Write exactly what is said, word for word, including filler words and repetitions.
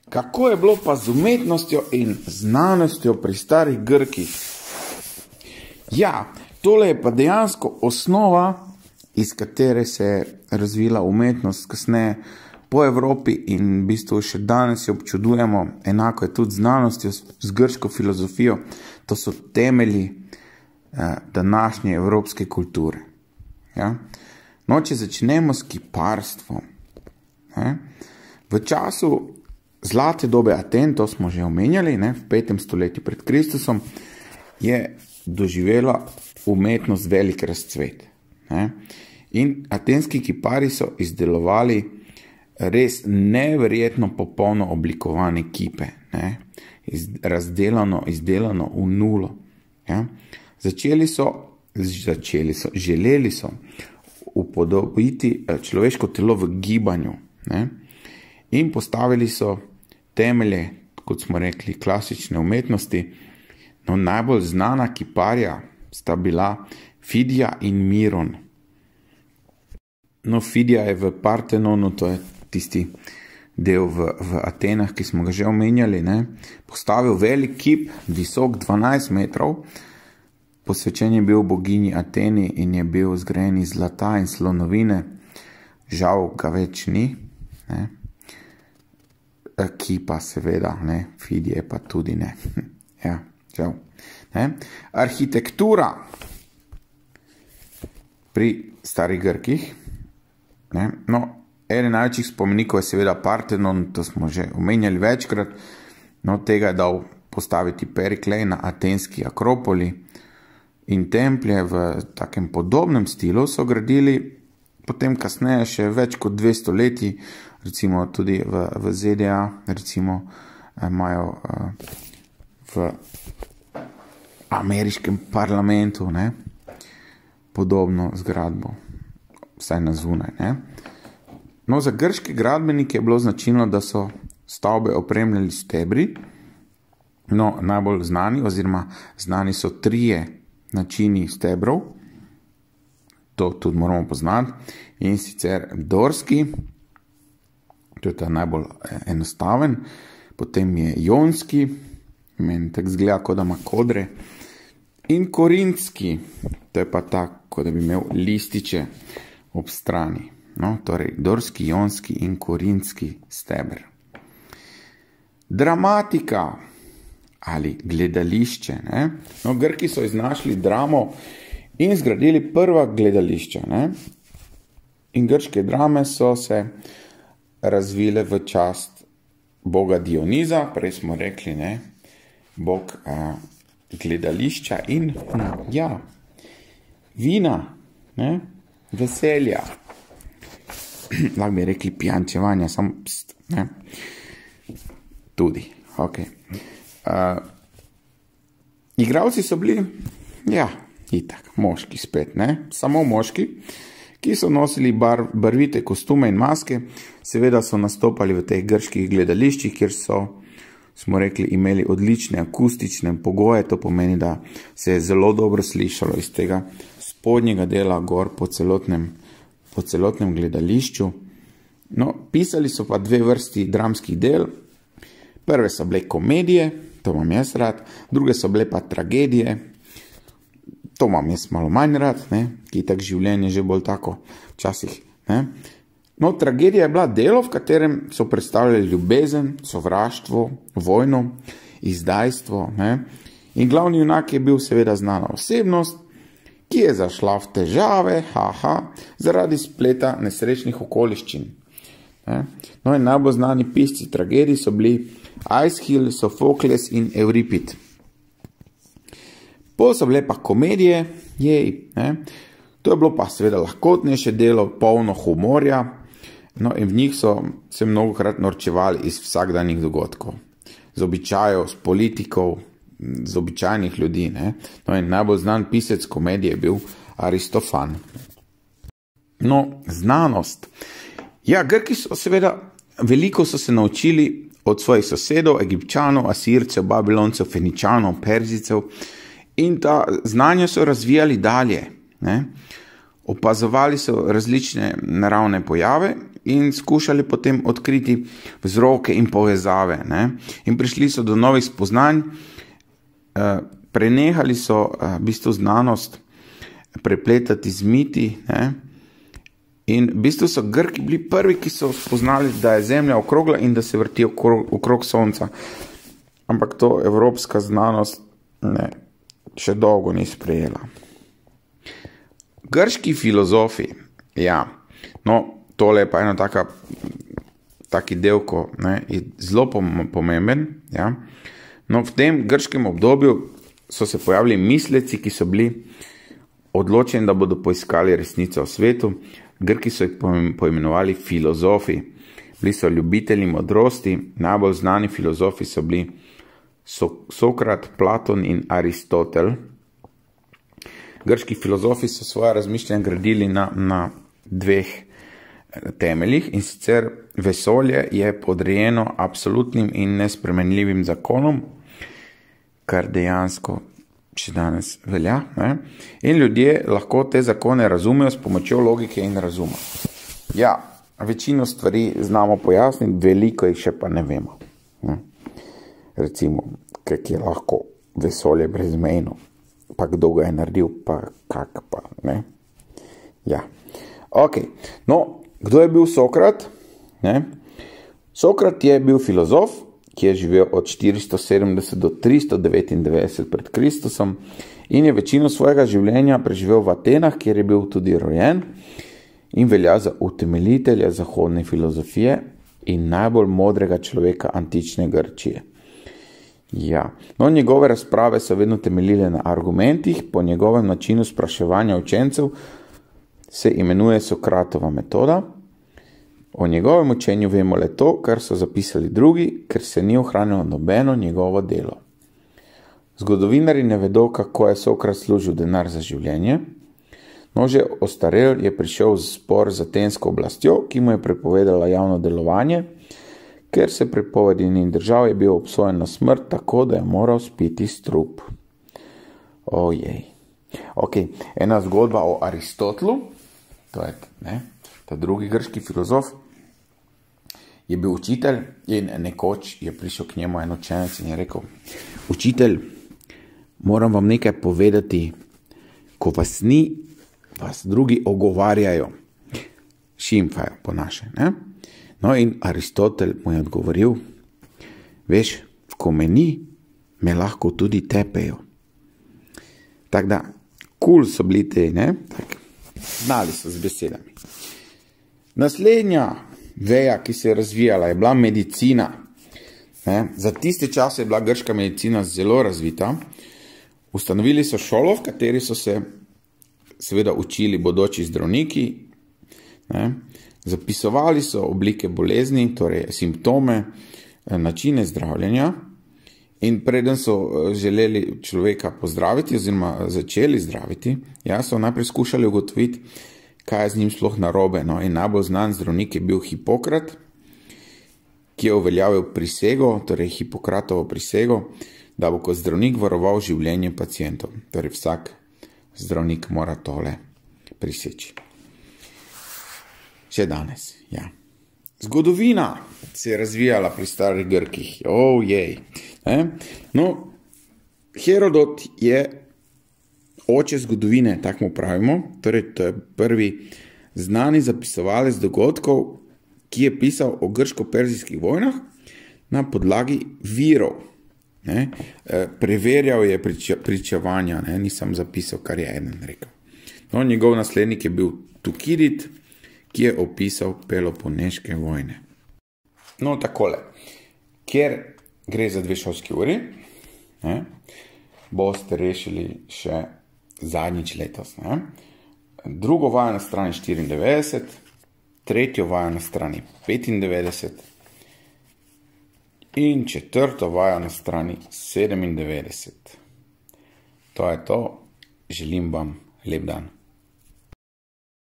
Kako je bilo pa z umetnostjo in znanostjo pri starih Grkih? Ja, tole je pa dejansko osnova, iz katere se je razvila umetnost kasneje po Evropi in v bistvu še danes jo občudujemo. Enako je tudi znanostjo, z grško filozofijo. To so temelji eh, današnje evropske kulture. Ja? No, če začnemo s kiparstvom. Ne? V času zlate dobe Aten, to smo že omenjali, ne, v petem stoletju pred Kristusom, je doživela umetnost velik razcvet. Ne. In atenski kiparji so izdelovali res neverjetno popolno oblikovane kipe, ne, iz, razdelano, izdelano v nulo. Ja. Začeli so, začeli so, želeli so upodobiti človeško telo v gibanju, ne. In postavili so temelje, kot smo rekli, klasične umetnosti. No, najbolj znana kiparja sta bila Fidija in Miron. No, Fidija je v Partenonu, to je tisti del v, v Atenah, ki smo ga že omenjali, ne, postavil velik kip, visok dvanajst metrov, posvečen je bil boginji Ateni in je bil zgrajen iz zlata in slonovine. Žal ga več ni, ne. Kipa seveda, ne, Fidije pa tudi ne. Ja, žal. Ne. Arhitektura pri starih Grkih, ne, no, eden največjih spomenikov je seveda Partenon, to smo že omenjali večkrat, no, tega je dal postaviti Periklej na atenski Akropoli in templje v takem podobnem stilu so gradili potem kasneje še več kot dve stoletji, recimo tudi v, v Z D A, recimo imajo uh, v ameriškem parlamentu, ne, podobno zgradbo, vsaj na zunaj, ne. No, za grške gradbenike je bilo značilno, da so stavbe opremljali stebri. No, najbolj znani oziroma znani so trije načini stebrov, to tudi moramo poznati, in sicer dorski, to je ta najbolj enostaven, potem je jonski, meni tako zgleda, kot da ima kodre, in korintski, to je pa tak, kot da bi imel lističe ob strani. No, torej, dorski, jonski in korintski steber. Dramatika ali gledališče, ne? No, Grki so iznašli dramo in zgradili prva gledališča, ne? In grške drame so se razvile v čast boga Dioniza, prej smo rekli, ne, bog a, gledališča in, hm, ja, vina, ne, veselja. Lahko bi rekli pijančevanja, samo pst, ne, tudi, ok. Uh, igravci so bili, ja, itak, moški spet, ne, samo moški, ki so nosili bar, barvite kostume in maske, seveda so nastopali v teh grških gledališčih, kjer so, smo rekli, imeli odlične akustične pogoje, to pomeni, da se je zelo dobro slišalo iz tega spodnjega dela gor po celotnem, po celotnem gledališču. No, pisali so pa dve vrsti dramskih del. Prve so bile komedije, to imam jaz rad, druge so bile pa tragedije, to imam jaz malo manj rad, ne, ki je tak življenje že bolj tako včasih, ne. No, tragedija je bila delo, v katerem so predstavljali ljubezen, sovraštvo, vojno, izdajstvo, ne, in glavni junak je bil seveda znana osebnost, ki je zašla v težave, haha, zaradi spleta nesrečnih okoliščin. Ne. No, in najbolj znani pisci tragedij so bili Aeschyl, Sofokles in Euripid. Pol so bile pa komedije, jej, ne. To je bilo pa seveda lahkotnejše delo, polno humorja, no, in v njih so se mnogokrat norčevali iz vsakdanjih dogodkov, z običajev, z politikov, z običajnih ljudi, ne. No, in najbolj znan pisec komedije je bil Aristofan. No, znanost. Ja, Grki so seveda, veliko so se naučili od svojih sosedov, Egipčanov, Asircev, Babiloncev, Feničanov, Perzijcev in ta znanja so razvijali dalje, ne. Opazovali so različne naravne pojave in skušali potem odkriti vzroke in povezave. Ne? In prišli so do novih spoznanj, prenehali so v bistvu znanost prepletati z miti, ne? In v bistvu so Grki bili prvi, ki so spoznali, da je Zemlja okrogla in da se vrti okrog, okrog Sonca. Ampak to evropska znanost ne, še dolgo ni sprejela. Grški filozofi, ja, no, tole je pa eno taka, taki del, ko ne, je zelo pomemben, ja. No, v tem grškem obdobju so se pojavili misleci, ki so bili odločeni, da bodo poiskali resnico v svetu. Grki so jih poimenovali filozofi. Bili so ljubitelji modrosti, najbolj znani filozofi so bili Sokrat, Platon in Aristotel. Grški filozofi so svoje razmišljanje gradili na, na dveh temeljih, in sicer vesolje je podrejeno absolutnim in nespremenljivim zakonom, kar dejansko še danes velja. Ne? In ljudje lahko te zakone razumejo s pomočjo logike in razuma. Ja, večino stvari znamo pojasniti, veliko jih še pa ne vemo. Ne? Recimo, kak je lahko vesolje brezmejno, pa kdo ga je naredil, pa kak pa, ne? Ja, ok. No, kdo je bil Sokrat? Ne? Sokrat je bil filozof, ki je živel od štiristo sedemdeset do tristo devetindevetdeset pred Kristusom in je večino svojega življenja preživel v Atenah, kjer je bil tudi rojen in velja za utemeljitelja zahodne filozofije in najbolj modrega človeka antične Grčije. Ja, no, njegove razprave so vedno temeljile na argumentih, po njegovem načinu spraševanja učencev se imenuje Sokratova metoda. O njegovem učenju vemo le to, kar so zapisali drugi, ker se ni ohranilo nobeno njegovo delo. Zgodovinari ne vedo, kako je Sokrat služil denar za življenje, no že ostarel je prišel v spor z atensko oblastjo, ki mu je prepovedala javno delovanje, ker se prepovedi ni držal, je bil obsojen na smrt, tako da je moral spiti strup. Ojej. Ok, ena zgodba o Aristotelu, to je, ne, ta drugi grški filozof, je bil učitelj in nekoč je prišel k njemu en učenec in je rekel: učitelj, moram vam nekaj povedati, ko vas ni, vas drugi ogovarjajo, šimfajo po naše, ne? No, in Aristotel mu je odgovoril: veš, ko me ni, me lahko tudi tepejo. Tako da, kul so bili te, ne? Tak, znali so z besedami. Naslednja veja, ki se je razvijala, je bila medicina. Ne? Za tiste čase je bila grška medicina zelo razvita. Ustanovili so šolo, v kateri so se seveda učili bodoči zdravniki. Ne? Zapisovali so oblike bolezni, torej simptome, načine zdravljenja. In preden so želeli človeka pozdraviti oziroma začeli zdraviti, ja, so najprej skušali ugotoviti, kaj je z njim sploh narobe. No, in najbolj znan zdravnik je bil Hipokrat, ki je uveljavil prisego, torej Hipokratovo prisego, da bo kot zdravnik varoval življenje pacientov. Torej vsak zdravnik mora tole priseči. Še danes, ja. Zgodovina se je razvijala pri starih Grkih. Ojej. Oh, no, Herodot je oče zgodovine, tako mu pravimo, torej to je prvi znani zapisovalec dogodkov, ki je pisal o grško-perzijskih vojnah na podlagi virov. Ne? Preverjal je priča, pričevanja, ne? Nisem zapisal, kar je eden rekel. No, njegov naslednik je bil Tukidid, ki je opisal Peloponeške vojne. No, takole, ker gre za dve šolski uri, ne? Boste rešili še zadnjič letos. Ne? Drugo vajo na strani štiriindevetdeset, tretjo vajo na strani petindevetdeset in četrto vajo na strani sedemindevetdeset. To je to. Želim vam lep dan.